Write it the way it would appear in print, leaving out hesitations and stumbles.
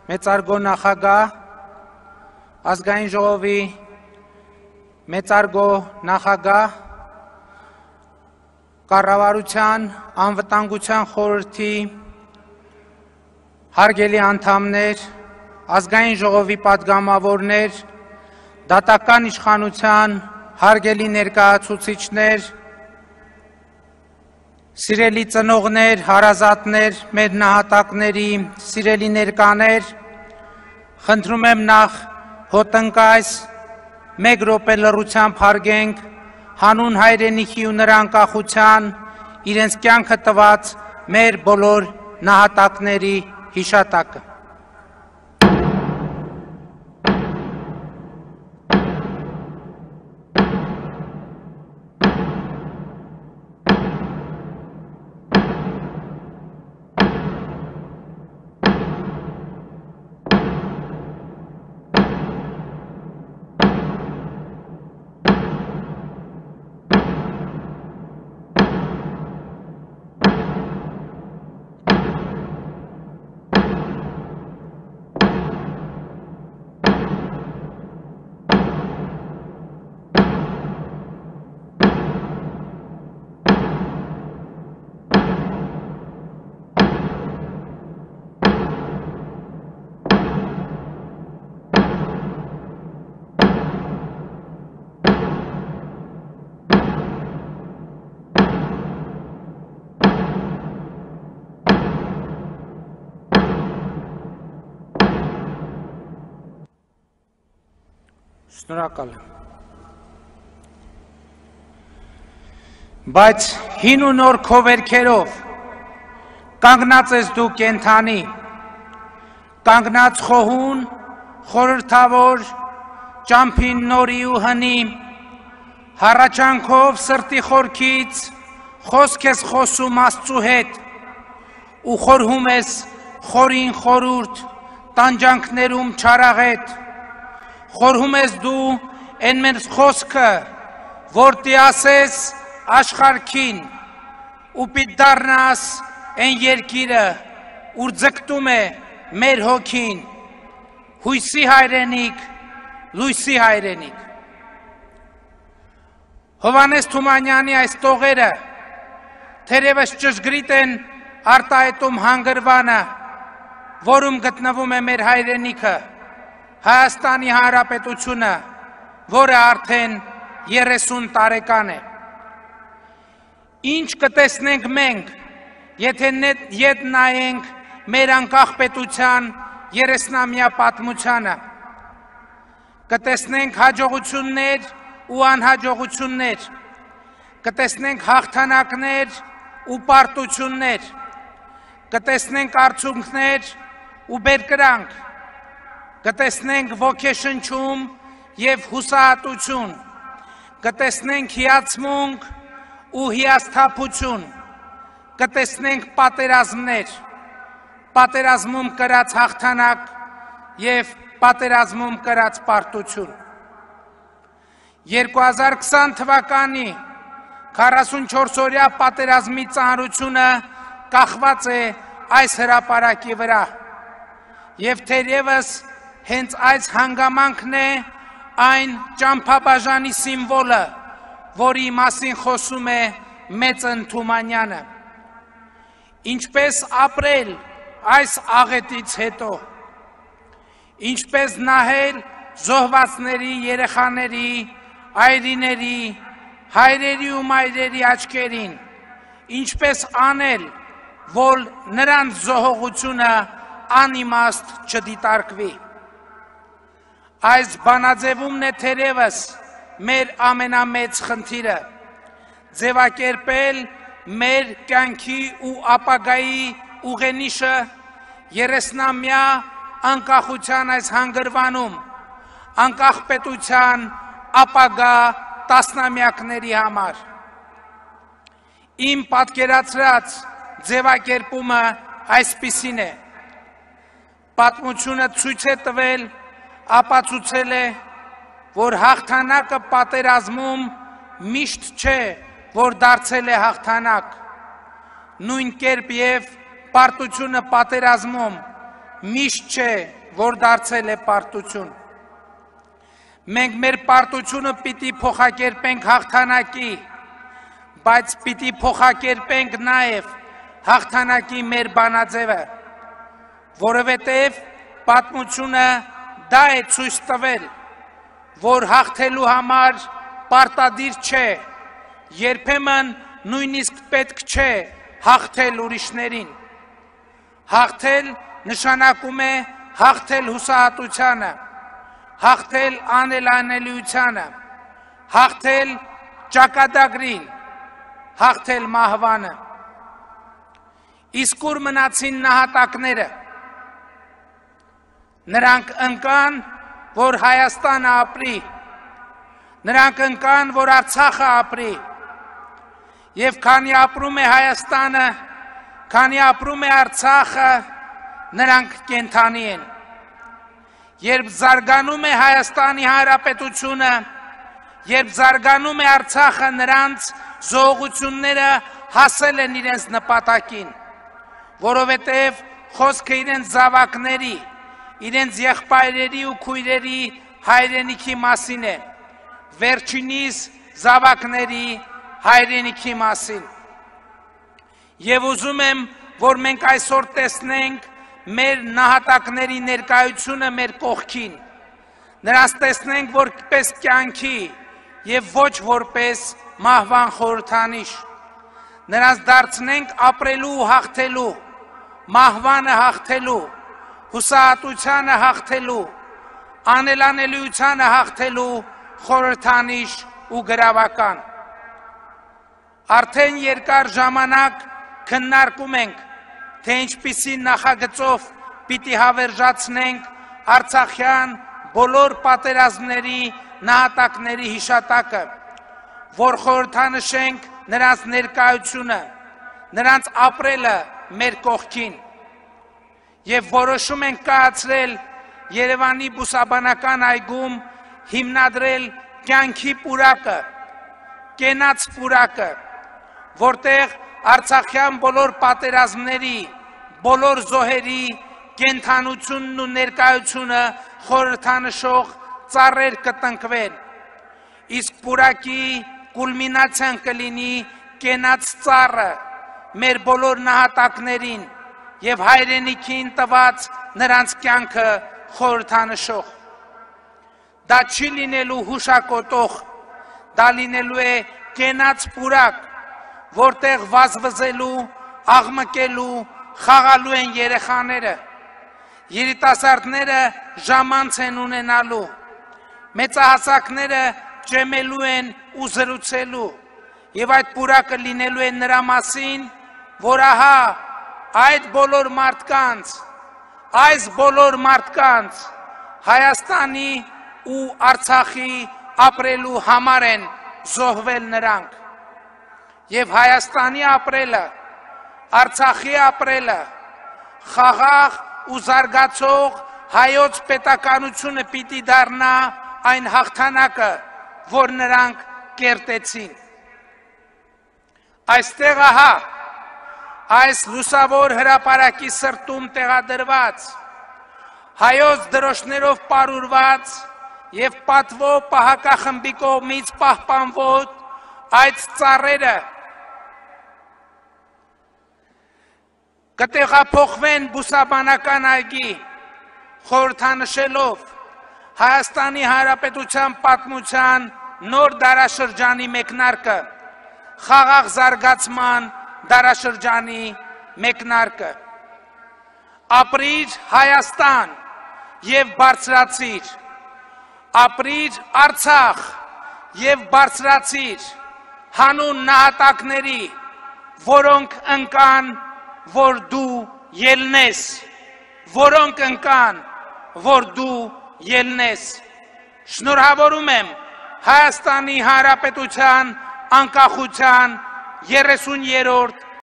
մեծարգո նախագահ, ազգային ժողովի մեծարգո նախագահ, կառավարության անվտանգության խորհրդի հարգելի անդամներ, ազգային ժողովի պատգամավորներ, դատական իշխանության հարգելի ներկայացուցիչներ, սիրելի ծնողներ, հարազատներ, մեր նահատակների, սիրելի ներկաներ, խնդրում եմ նախ հոտնկայս մեկ րոպե լռությամբ հարգենք հանուն հայրենիքի ու նրա անկախության իրենց կյանքը տված մեր բոլոր նահատակների հիշատակը։ Շնորհակալ եմ։ Բայց հին ու նոր քո վերքերով կանգնած ես դու կենթանի, կանգնած խոհուն, խորհրդավոր, ճամփին նորի ու հնի, հառաչանքով սրտի խորքից խոսք ես խոսում Աստծու հետ ու խորհում ես խորին խորուրդ տանջանքներում չարաղետ, խորհում ես դու են մեր խոսքը, որ տիասես աշխարհքին ու պիտ դառնաս են երկիրը, ուր ձգտում է մեր հոգին, հույսի հայրենիք, լույսի հայրենիք։ Հովհաննես Թումանյանի այս տողերը թերևս ճշգրիտ են արտահայտում հանգրվանը, որում գտնվում է մեր հայրենիքը, Հայաստանի Հանրապետությունը, որը արդեն 30 տարեկան է։ Ինչ կտեսնենք մենք, եթե ետ նայենք մեր անկախ պետության 30-ամյա պատմությանը, կտեսնենք հաջողություններ ու անհաջողություններ, կտեսնենք հաղթանակներ ու պարտություններ, կտեսնենք արդյունքներ ու բերկրանք, կտեսնենք ոգեշնչում և հուսահատություն, կտեսնենք հիացմունք ու հիասթափություն, կտեսնենք պատերազմներ, պատերազմում կրած հաղթանակ և պատերազմում կրած պարտություն։ 2020 թվականի 44-օրյա պատերազմի ծանրությունը կախված է այս հրապարակի վրա և թերևս հենց այս հանգամանքն է այն ճամփաբաժանի սիմվոլը, որի մասին խոսում է Մեծն Թումանյանը։ Ինչպես ապրել այս աղետից հետո, ինչպես նահել զոհվածների երեխաների, այրիների, հայրերի ու մայրերի աչքերին, ինչպես անել, որ նրանց զոհողությունը անիմաստ չդիտարկվի։ Այս բանաձևումն է թերևս մեր ամենամեծ խնդիրը, ձևակերպել մեր կյանքի ու ապագայի ուղենիշը 30-ամյա անկախության այս հանգրվանում, անկախ պետության ապագա տասնամյակների համար։ Իմ պատկերացրած ձևակերպումը այսպիսին է. պատմությունը ցույց է տվել, ապացուցել է, որ հաղթանակը պատերազմում միշտ չէ, որ դարձել է հաղթանակ, նույն կերպ և պարտությունը պատերազմում միշտ չէ, որ դարձել է պարտություն։ Մենք մեր պարտությունը պիտի փոխակերպենք հաղթանակի, բայց պիտի փոխակերպենք նաև հաղթանակի մեր բանաձևը, որովհետև պատմությունը դա է ցույց տվել, որ հաղթելու համար պարտադիր չէ, երբեմն նույնիսկ պետք չէ հաղթել ուրիշներին։ Հաղթել նշանակում է հաղթել հուսահատությանը, հաղթել անելանելիությանը, հաղթել ճակատագրին, հաղթել մահվանը։ Իսկ ուր մնացին նահատակները։ Նրանք ընկան, որ Հայաստանը ապրի, նրանք ընկան, որ Արցախը ապրի, և քանի ապրում է Հայաստանը, քանի ապրում է Արցախը, նրանք կենդանի են։ Երբ զարգանում է Հայաստանի Հանրապետությունը, երբ զարգանում է Արցախը, նրանց զոհությունները հասել են իրենց նպատակին, որովհետև խոսքը իրենց զավակների, իրենց եղբայրերի ու քույրերի հայրենիքի մասին է, վերջինիս զավակների հայրենիքի մասին։ Եվ ուզում եմ, որ մենք այսօր տեսնենք մեր նահատակների ներկայությունը մեր կողքին, նրանց տեսնենք որպես կյանքի և ոչ որպես մահվան խորհրդանիշ, նրանց դարձնենք ապրելու ու հաղթելու, մահվանը հաղթելու, հուսահատությանը հաղթելու, անելանելիությանը հաղթելու խորհրդանիշ ու գրավական։ Արդեն երկար ժամանակ քննարկում ենք, թե ինչպիսի նախագծով պիտի հավերժացնենք արցախյան բոլոր պատերազմների նահատակների հիշատակը, որ խորհրդանշենք նրանց ներկայությունը, նրանց ապրելը մեր կողքին, և որոշում ենք կայացրել Երևանի բուսաբանական այգում հիմնադրել կյանքի պուրակը, կենաց պուրակը, որտեղ արցախյան բոլոր պատերազմների, բոլոր զոհերի կենդանությունն ու ներկայությունը խորհրդանշող ծառեր կտնկվեն, իսկ պուրակի կուլմինացիան կլինի կենաց ծառը մեր բոլոր նահատակներին և հայրենիքին տված նրանց կյանքը խորհրդանշող։ Դա չի լինելու հուշակոտող, դա լինելու է կենաց պուրակ, որտեղ վազվզելու, աղմկելու, խաղալու են երեխաները, երիտասարդները ժամանց են ունենալու, մեծահասակները ջեմելու են ու զրուցելու, և այդ պուրակը լինելու է նրա մասին, որ ահա այդ բոլոր մարդկանց, Հայաստանի ու Արցախի ապրելու համար են զոհվել նրանք, և Հայաստանի ապրելը, Արցախի ապրելը, խաղաղ ու զարգացող հայոց պետականությունը պիտի դառնա այն հաղթանակը, որ նրանք կերտեցին։ Այստեղ ահա, այս լուսավոր հրապարակի սրտում տեղադրված, հայոց դրոշներով պարուրված և պատվո պահակախմբի կողմից պահպանվող այդ ծառերը կտեղափոխվեն բուսաբանական այգի, խորհրդանշելով Հայաստանի Հանրապետության պատմության նոր դարաշրջանի մեկնարկը, խաղաղ զարգացման դարաշրջանի մեկնարկը։ Ապրիր Հայաստան և բարձրացիր, ապրիր Արցախ և բարձրացիր հանուն նահատակների, որոնք ընկան, որ դու ելնես, որոնք ընկան, որ դու ելնես։ Շնորհավորում եմ Հայաստանի Հանրապետության անկախության 30-րդ